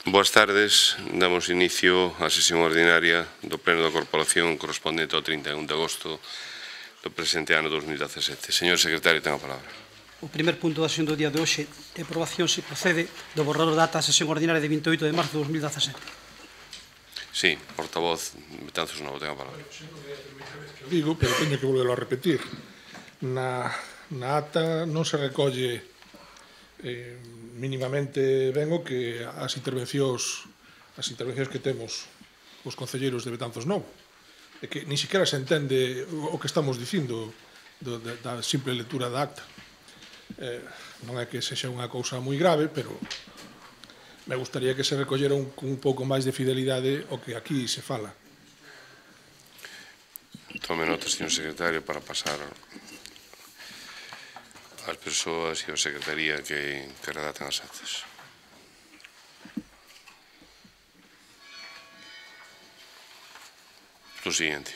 Boas tardes. Damos inicio á sesión ordinaria do Pleno da Corporación correspondente ao 31 de agosto do presente ano 2017. Señor Secretario, ten a palabra. O primer punto da sesión do día de hoxe de aprobación se procede do borrador de data da sesión ordinaria de 28 de marzo de 2017. Sí, portavoz Betanzos Novo, ten a palabra. Digo, pero teño que volverlo a repetir. Na ata non se recolle mínimamente ben o que as intervencións que temos os concelleiros de Betanzos Novo, e que ni siquiera se entende o que estamos dicindo da simple lectura da acta. Non é que sexa unha cousa moi grave, pero me gustaría que se recollera un pouco máis de fidelidade o que aquí se fala. Tome nota, señor Secretario, para pasar ás persoas e a Secretaría que redactan as actas. O siguiente.